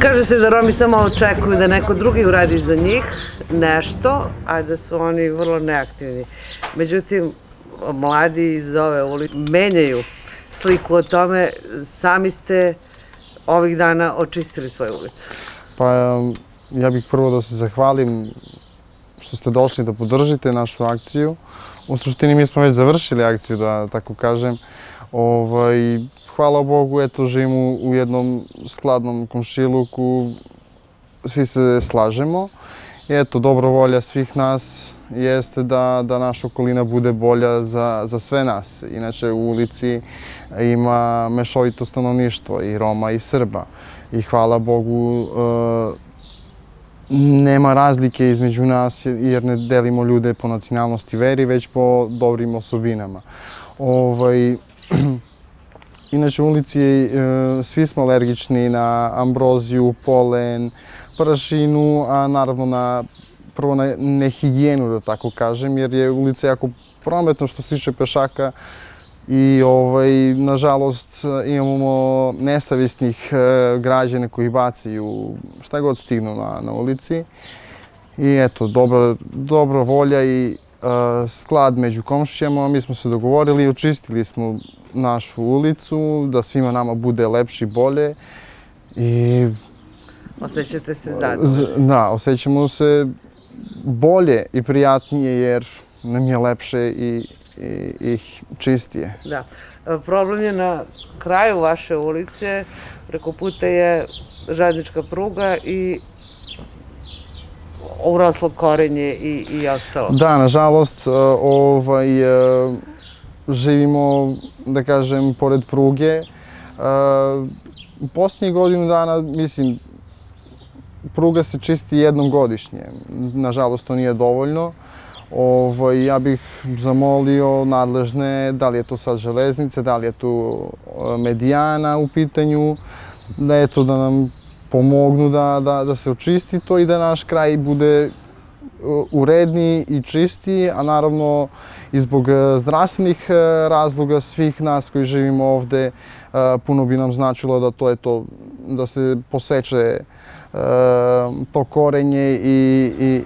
Kaže se da Romi samo očekuju da neko drugi uradi za njih nešto, a da su oni vrlo neaktivni. Međutim, mladi iz ove ulice menjaju sliku o tome. Sami ste ovih dana očistili svoju ulicu. Pa ja bih prvo da se zahvalim što ste došli da podržite našu akciju. U suštini mi smo već završili akciju, da tako kažem. Hvala Bogu, eto, živimo u jednom skladnom komšiluku, svi se slažemo. I eto, dobra volja svih nas jeste da naša okolina bude bolja za sve nas. Inače, u ulici ima mešovito stanovništvo, i Roma i Srba. I hvala Bogu, nema razlike između nas jer ne delimo ljude po nacionalnosti, veri, već po dobrim osobinama. Inače, u ulici svi smo alergični na ambroziju, polen, prašinu, a naravno prvo na nehigijenu, da tako kažem, jer je ulica jako prometno što se tiče pešaka i nažalost imamo nesavjesnih građana koji bacaju šta god stignu na ulici. I eto, dobra volja i sklad među komšijama, mi smo se dogovorili i očistili smo našu ulicu, da svima nama bude lepše i bolje. Osjećate se zadovoljni? Da, osjećamo se bolje i prijatnije jer nam je lepše i čistije. Da. Problem je na kraju vaše ulice, preko puta je željeznička pruga i uraslo korenje i ostalo. Da, nažalost, živimo, da kažem, pored pruge. U posljednjih godinu dana, mislim, pruga se čisti jednom godišnje. Nažalost, to nije dovoljno. Ja bih zamolio nadležne, da li je to sad železnice, da li je tu medijana u pitanju, da nam pomognu da se očisti to i da naš kraj bude uredniji i čistiji, a naravno i zbog zdravstvenih razloga svih nas koji živimo ovde, puno bi nam značilo da to je to, da se poseče to korenje i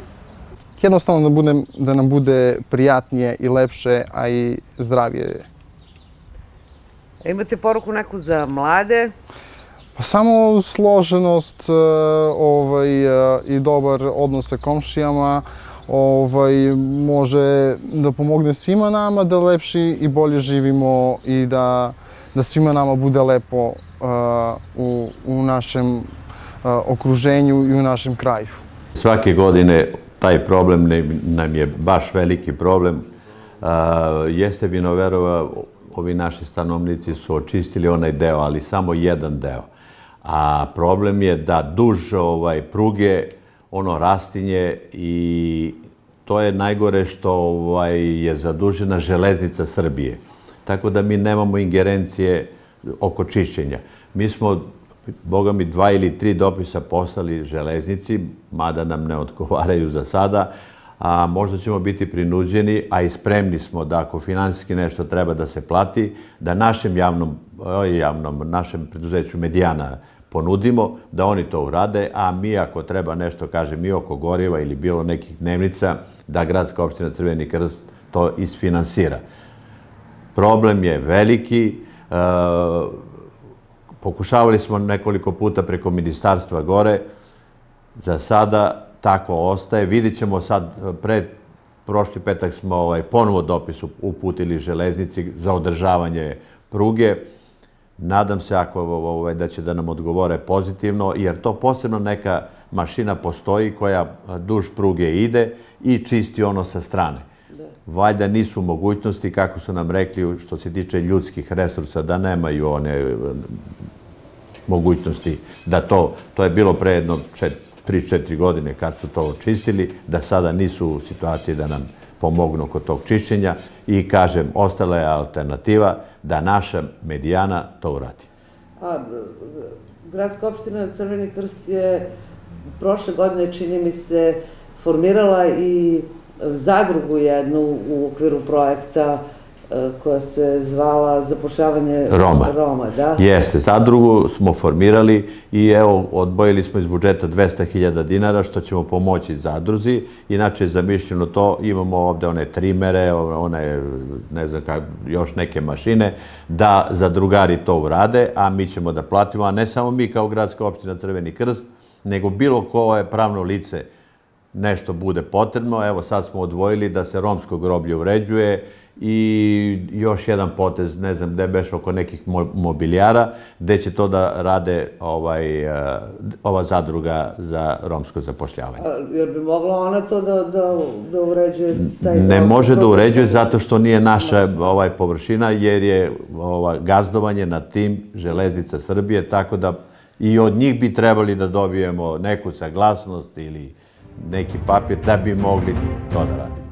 jednostavno da nam bude prijatnije i lepše, a i zdravije. Imate poruku neku za mlade? Pa samo složenost i dobar odnos sa komšijama može da pomogne svima nama da lepše i bolje živimo i da svima nama bude lepo u našem okruženju i u našem kraju. Svake godine taj problem nam je baš veliki problem. Jeste Vinoverova, ovi naši stanovnici su očistili onaj deo, ali samo jedan deo. A problem je da duž pruge ono rastinje i to je najgore što je zadužena železnica Srbije. Tako da mi nemamo ingerencije oko čišćenja. Mi smo, boga mi, 2 ili 3 dopisa poslali železnici, mada nam ne odgovaraju za sada, a možda ćemo biti prinuđeni, a i spremni smo da ako finansijski nešto treba da se plati, da našem preduzeću Medijana ponudimo, da oni to urade, a mi ako treba nešto, kažem, i oko goriva ili bilo nekih dnevnica, da Gradska opština Crveni krst to isfinansira. Problem je veliki. Pokušavali smo nekoliko puta preko ministarstva gore. Za sada tako ostaje. Vidit ćemo sad, prošli petak smo ponovo dopis uputili železnici za održavanje pruge. Nadam se da će da nam odgovore pozitivno, jer to posebno neka mašina postoji koja duž pruge ide i čisti ono sa strane. Valjda nisu mogućnosti, kako su nam rekli, što se tiče ljudskih resursa, da nemaju one mogućnosti da to je bilo pre jedno 3-4 godine kad su to očistili, da sada nisu u situaciji da nam pomognu kod tog čišćenja i, kažem, ostala je alternativa da naša Medijana to uradi. Gradska opština Crveni krst je prošle godine, čini mi se, formirala i zadrugu jednu u okviru projekta koja se zvala zapošljavanje Roma, da? Jeste, zadrugu smo formirali i evo, odbojili smo iz budžeta 200.000 dinara, što ćemo pomoći zadruzi. Inače je zamišljeno to, imamo ovde one trimere, one, ne znam kako, još neke mašine, da zadrugari to urade, a mi ćemo da platimo, a ne samo mi kao gradska opština Crveni krst, nego bilo koje pravno lice nešto bude potrebno. Evo, sad smo odvojili da se romsko groblje uređuje i još jedan potez, ne znam gde beš, oko nekih mobilijara, gde će to da rade ova zadruga za romsko zapošljavanje. Jel bi mogla ona to da uređuje? Ne može da uređuje zato što nije naša površina, jer je gazdovanje nad tim Železnica Srbije, tako da i od njih bi trebali da dobijemo neku saglasnost ili neki papir da bi mogli to da radimo.